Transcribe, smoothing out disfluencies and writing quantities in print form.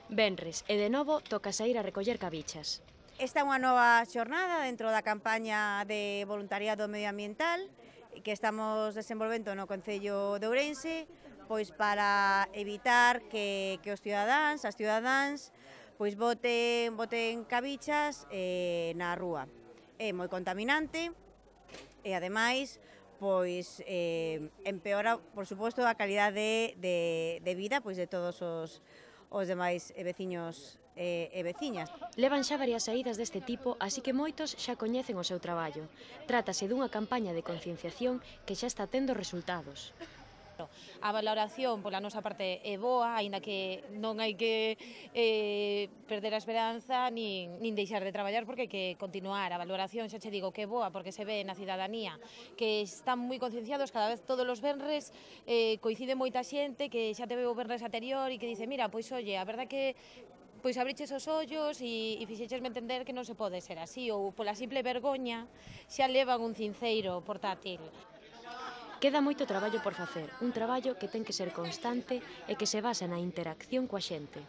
Venres, e de novo toca saír a recoller cabichas. Esta é unha nova xornada dentro da campaña de voluntariado medioambiental que estamos desenvolvendo no Concello de Ourense, pois para evitar que os cidadáns, as cidadáns, pois boten cabichas na rúa. É moi contaminante e ademais pois empeora, por suposto, a calidade de vida pois de todos os demais veciños e veciñas. Levan xa varias saídas deste tipo, así que moitos xa coñecen o seu traballo. Trátase dunha campaña de concienciación que xa está tendo resultados. A valoración pola nosa parte é boa, aínda que non hai que perder a esperanza nin deixar de traballar porque hai que continuar. A valoración xa che digo que é boa porque se ve na cidadanía que están moi concienciados, cada vez todos os venres coincide moita xente que xa te veo o venres anterior e que dice, mira, pois oye, a verdade que pois abriches os ollos e fixechesme entender que non se pode ser así, ou pola simple vergoña xa levan un cinceiro portátil. Queda moito traballo por facer, un traballo que ten que ser constante e que se basa na interacción coa xente.